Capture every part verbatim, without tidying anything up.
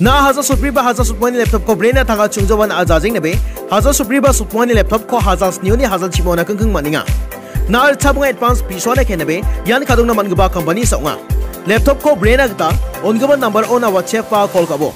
Na hajar sotbri ba hajar sotmani laptop-ko brena tangka chungjawan a jajeng nabe, hajar sotbri ba sotmani laptop-ko hajar snioni hajar chimona kengkeng maninga. Na ritchabunga advance pisoana kenabe, ian kadongna man·gipa company saonga. Laptop-ko brena gita, on·gipa number-ona WhatsApp ba call ka·bo.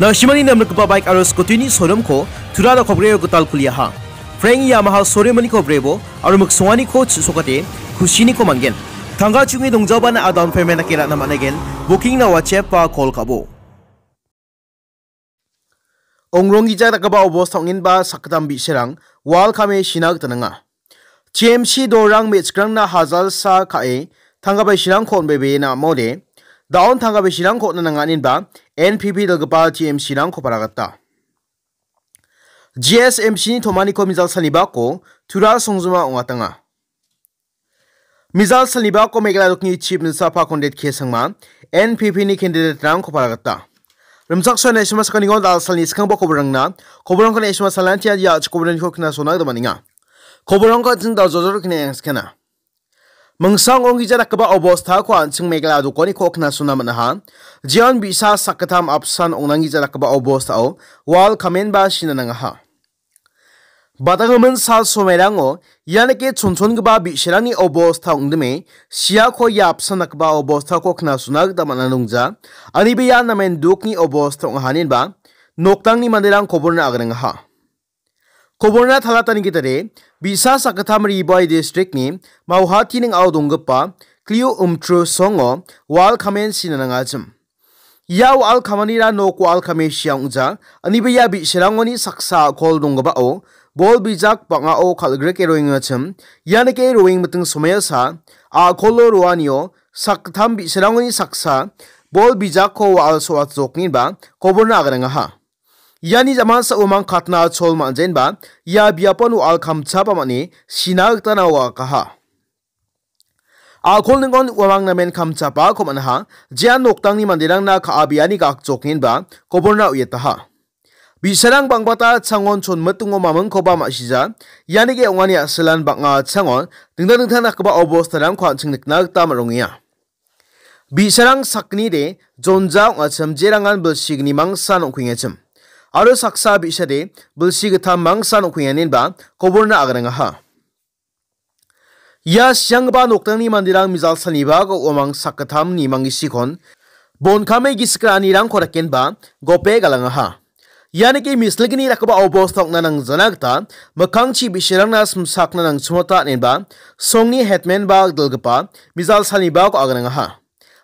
Na·simani namrikgipa bike aro scooty-ni showroom-ko Tura dakogreo gital kuliaha. Frank Yamaha showroom-ni kobrebo aro miksonganiko chisokate kusiniko man·gen. Tangka chungi dongjabana a down payment dake ra·na man·aigen. Booking-na WhatsApp ba call ka·bo. Ongronggija dakgipa obosta ong·enba sakgittam bi·sarang wal kame sina gita nanga. T M C dorang me·chikrangna hajalsa ka·e tangka bai sirangko on·bebena am·ode, da·on tangka bai sirangko on·na nanga inenba N P P dalgipa T M C-rangko paragata. G S M C-ni tomaniko mijal salibako Tura songjima ong·atanga. Mijal salibako Meghalaya dokni Chief Minister pa Conrad K Sangma, N P P-ni candidate-rangko paragata. Rimchaksoa naisima sakanigon dal salni skangba koborangna, koborangko naisima salantia ia koborangko kna sona gita man·enga. Koborangko an·ching dal jojor kna yang skana. Mingsang onggija dakgipa obostako an·ching Meghalaya dokoniko kna sona man·aha. Jeon bi·sa sakgittam apsan ong·nanggija dakgipa obostao wal kamenba sina nangaha. Badanggimin sal somairango ianike chonchongipa bi·sarangni obosta ong·dime, siako ia apsan dakgipa obostako kna sona gita man·a nongja. Aniba ia namen dukni obosta ong·ahaninba, noktangni manderang koborna agrengaha. Koborna talatani gitade, bi·sa sakgittam Ri Bhoi district-ni Mauhati ning·ao donggipa Klio Umtru songo wal kamen sina nangachim. Ia wal kamanira nok wal kame sia ong·ja, aniba ia bi·sarangoni saksa a·kol donggipao bol bijak bang·ao kal·grike roengachim, ianike roeng miting somoiasa a·kolo roanio sakgittam bi·sarangoni saksa bol bijakko wa·al so·atjokniba koborna agrengaha. Iani jamansa uamang katna chol man·jenba ia biapon wa·al kamchapa man·e sina gita na wa·akaha. A·kol ningon uamang namen kamchapako man·aha, jean noktangni manderangna ka·abiani gakjokngenba koborna uiataha. Bi·sarang bang·bata changon chonmitingo mamingkoba ma·sija, ianike ong·ani a·silan bang·a changon dingtang dingtang dakgipa obostarangko an·ching nikna gita man·rongenga. Bi·sarang sakgnide jonja ong·achim jerangan bilsigni mangsan ong·kuengachim. Aro saksa bi·sade bilsi gittam mangsan ong·kuenganinba koborna agrengaha. Ia sianggipa noktangni manderang mijal salnibako uamang sakgittamni manggisikon bonkame gisik ra·anirangko rakenba gope galangaha. Ianike mislgni dakgipa obosta ong·na nangjana gita mikkangchi bi·sarangna simsakna nangchimota inenba songni hetmenba dilgipa mijal salnibako agrengaha.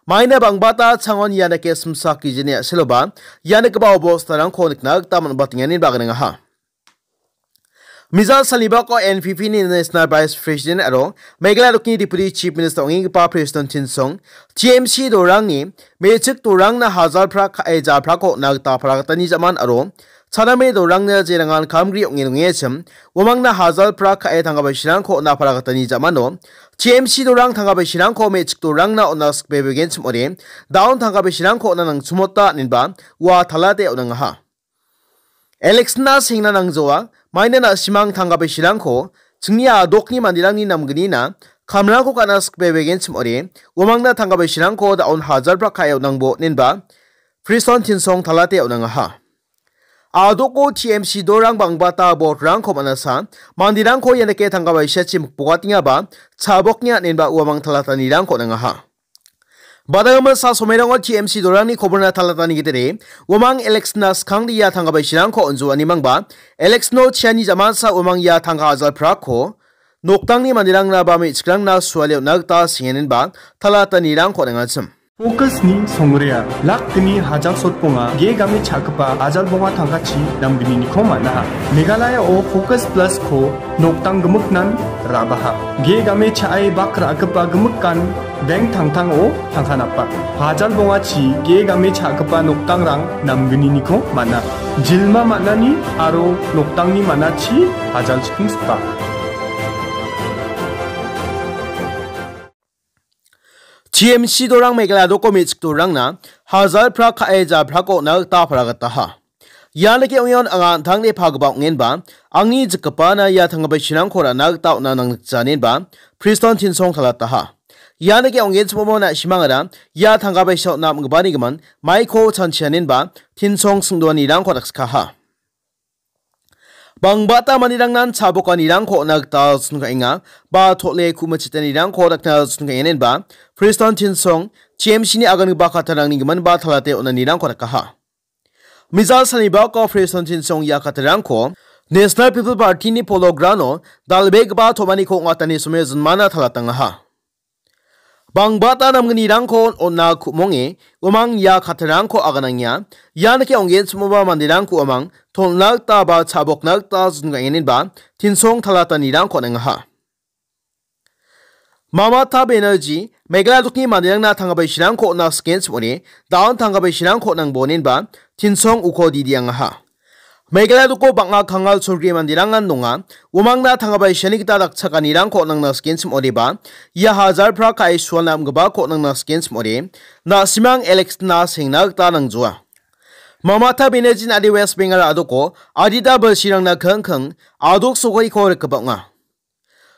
Maina bang·bata changon ianike simsak gijini a·seloba ianikegipa obostarangko nikna gita man·batenganinba agrengaha. Mijal salnibako N P P-ni National Vice President aro Meghalaya dokni Deputy Chief Minister ong·enggipa Prestone Tynsong, T M C dorangni me·chik dorangna hajalpra ka·e japrako on·na gita paragatani jaman aro chaname dorangna jerangan kamgri ong·e dongengachim, uamangna hajalpra ka·e tangka bai sirangko on·na paragatani jamano T M C dorang tangka bai sirangko me·chik dorangna on·na sikbebegenchim ong·ode, da·on tangka bai sirangko on·na nangchimota inenba ua talate on·angaha. Election-na sengna nangjoa, maina na·simang tangka bai sirangko chingni a·dokni manderangni namgnina kamrangko ka·na sikbebegenchim ong·ode, uamangna tangka bai sirangko da·on hajalpra ka·e on·angbo inenba Prestone Tynsong talate on·angaha. A·doko T M C dorang bang·bata vote-rangko man·asa, manderangko ianike tangka bai siachi mikbokatengaba, chaboknga inenba uamang talatanirangko on·angaha. Badanggimin sal somairango T M C dorangni koborna talatani gitade, uamang election-na skangde ia tangka bai sirangko on·joanimangba, election-o chiani jamansa uamang ia tangka hajalprako noktangni manderangna ba me·chikrangna suale on·na gita sengenenba talatanirangko on·angachim. Focus-ni songrea, lak gni hajal sotbonga, ge game cha·gipa hajal bonga tangkachi namgnini kom man·aha. Meghalaya-o Focus Plus-ko noktang gimiknan ra·baha. Ge game cha·e bak ra·gipa gimikan bank tangtango tangka napa. Hajal bongachi ge game cha·gipa noktangrang namgniniko man·a. Jilma man·ani aro noktangni man·achi hajal chiking sipa. T M C dorang Meghalaya doko me·chik dorangna hajar prak ka·e japrako on·na gita paragataha. Ia nike ong·eon anga an·tangde pagipa ong·enba, angni jikgipana ia tanggipa sirangko ra·na gita on·na nangnikjaninba, Priston Tinsong talataha. Ia nike ong·genchimomo na·simangara ia tanggipa sirang on·na am·gipani gimin maiko chanchianinba, Tinsong singdoanirangko dakskaha. Bangbata manderangnan cha·bokanirangko on·na gita chonka·enga, ba tole ku·michitanirangko dakna chonka·enenba, Priston Tinsong, T M C-ni agangipa kattarangni giminba talate on·anirangko dakaha. Mejal salni bako Priston Tinsong ia kattarangko National People Party-ni polo ground-o dal·begipa tom·aniko ong·atani somoi jinmana talatangaha. Bangbata namgnirangko on·na ku·monge uamang ia kattarangko aganangia. Ia nike ong·genchimoba manderangko uamang ton·na gita ba cha·bokna gita jingaenenba Tinsong talatanirangko on·engaha. Mamata Banerjee, Meghalaya dokni manderangna tanggipa sirangko on·na sikenchim ong·e, da·on tanggipa sirangko on·angbonenba Tinsong uko didiangaha. Meghalaya doko bang·a kangal cholgri manderangan donga. Uamangna tanggipa siani gita dakchakanirangko on·angna sikenchim ong·ode ba, ia hajar prak ka·e sualna am·gipako on·angna sikenchim ong·ode, na·simang election-na sengna gita nangjoa. Mamata Banerjee-ni ade West Bengal a·doko adita bilsirangna kingking a·dok sokoiko rikgipa ong·a.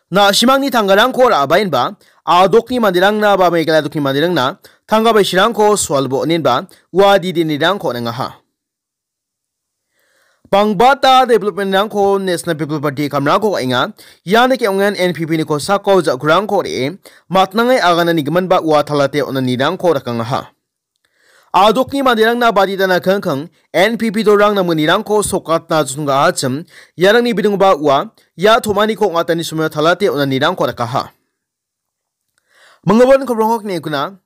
Na·simangni tanggarangko ra·baenba, a·dokni manderangna ba Meghalaya dokni manderangna tanggipa sirangko sualbo on·enba, ua didinirangko on·engaha. Bangbata development-rangko National People Party kamrangko ka·enga. Ia nike ong·en N P P-ni kosako ja·kurangko re·e, matnange aganani giminba ua talate on·anirangko dakangaha. A·dokni manderangna baditana kingking N P P dolrang namgnirangko sokatna chonggahachim, iarangni bidingba ua, ia tom·aniko ong·atani somoi talate on·anirangko dakaha. Minggipa kobrongko kine kuna,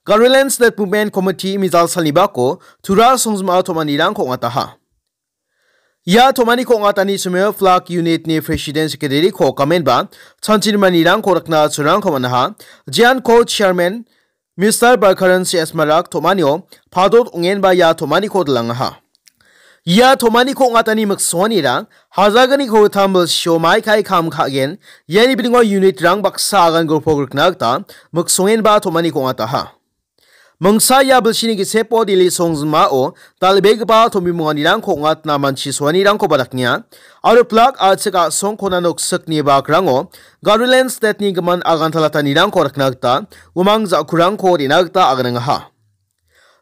Garoland State Movement Committee mejal salni bako Tura songjima tom·anirangko ong·ataha. Ia tom·aniko ong·atani somoi flag unit-ni president secretary-ko kamenba chanchinimanirangko rikna cholrangko man·aha. Jeanko chairman Mister Barkaran C S Marak tom·anio padot ong·enba ia tom·aniko dilangaha. Ia tom·aniko ong·atani miksonganira hajalgni kolgittam bilsio maikai kam ka·gen, iani bidingo unit-rang baksa agan golpo rikna gita miksongenba tom·aniko ong·ataha. Mingsa ia bilsini gisepo Delhi songjinmao dal·begipa tombimonganirangko ong·atna manchi soanirangkoba daknenga. Aro plak a·chik a·songkona noksikni bakrango Garoland State-ni gimin agantalatanirangko rikna gita uamang ja·kurangko re·na gita aganangaha.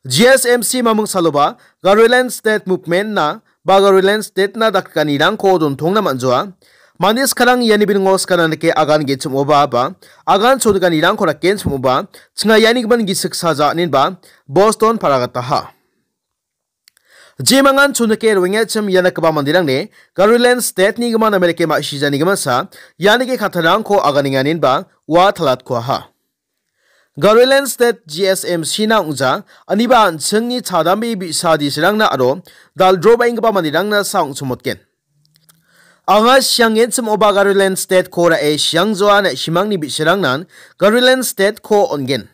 G S M C maming saloba Garoland State Movement-na ba Garoland State-na dakrikanirangko dontongna man·joa. Mande skarang iani bidingo skana dake agan ge·chim ong·oba ba agan chonikanirangko raken chim ong·oba, chinga iani gimin gisik saja aninba Boston paragataha. Jemangan chonike roengachim ia nikgipa manderangni Garoland State-ni gimin Amerika ma·sijani giminsa ianike kattarangko aganenga aninba ua talatkuaha. Garoland State G S M C-na ong·ja, aniba an·chingni chadambe bi·sa disrangna aro daldrobaenggipa manderangna sa ong·chomotgen. Anga siangenchim oba Garoland State-ko ra·e siangjoa na·simangni bi·sarangnan Garoland State-ko on·gen.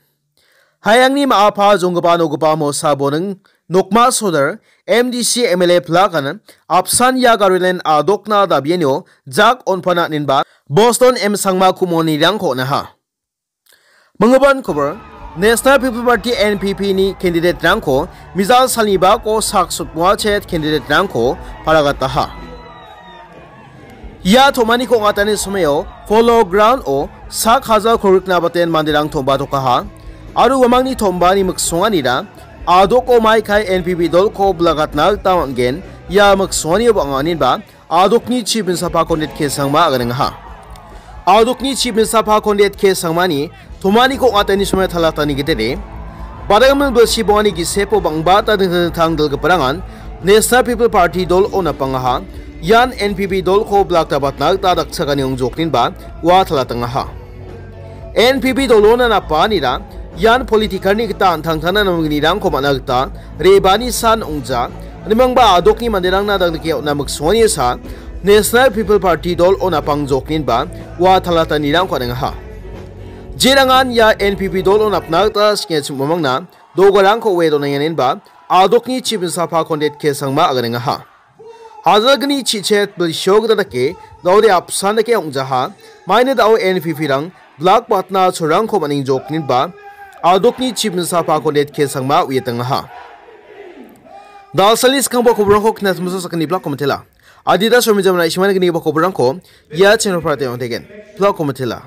Hayangni ma·a pa jonggipa nogipa mosa boning nokma sodar M D C M L A plakan apsan ia Garoland a·dokna dabianio jak on·pana aninba Boston M Sangma kumonirangko on·aha. Minggipa kobor, National People Party, N P P-ni candidate-rangko mejal salni bako sak sotmoachet candidate-rangko paragataha. Ia tom·aniko ong·atani somao Polo Ground-o sak hajar kolgrikna baten manderang tom·batokaha. Aro uamangni tom·bani miksonganira a·doko maikai N P P dolko bilakatna gita man·gen. Ia miksonganio bang·a aninba a·dokni Chief Minister Pakondet K Sangma aganengaha. A·dokni Chief Minister Pakondet K Sangmani tom·aniko ong·atani somoi talatani gedere, badangmil bilsi bongani gisepo bang·bata dingtang dingtang dilgiparangan National People Party dol-o napangaha. Ian N P P dolko bilakta batna gita dakchakani ong·jokninba ua talatangaha. N P P dolona napanira ian political-ni gita an·tangtangna namgnirangko man·a gita re·bani san ong·ja. Animangba a·dokni manderangna dangdike on·na miksonganisa National People Party dol-o napang jokninba ua talatanirangko on·engaha. Jerangan ia N P P dol-o napna gita singechim uamangna dogarangko oe donengenenba a·dokni Chief Minister Pakondet K Sangma aganengaha. Hajalgni chichet bilsio gita dake, daode apsan dake ong·jaha, maina dao N P P-rang bilak batna cholrangko man·engjokninba, Adokni chip minsapako net ke sangma uiatangaha. Dalsalni skangba koborangko knas musa sakani blak komitela. Adida somijamna isimani gniba koborangko ia channel prate ontegen. Blak komitela.